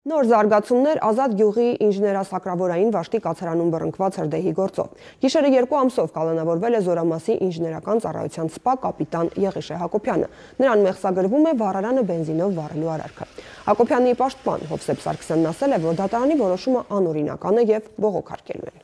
Նոր զարգացումներ Ազատ գյուղի ինժեներասակրավորային վաշտի կացարանում բռնկված հրդեհի գործով։ Գիշերը 2 ամսով կալանավորվել է Զորամասի ինժեներական ծառայության սպա կապիտան Եղիշե Հակոբյանը։ Նրան մեղսագրվում է վառարանը բենզինով վառելու արարքը։ Հակոբյանի պաշտպան Հովսեփ Սարգսյանն ասել է, որ դատարանի որոշումը անօրինական է եւ բողոքարկելու են։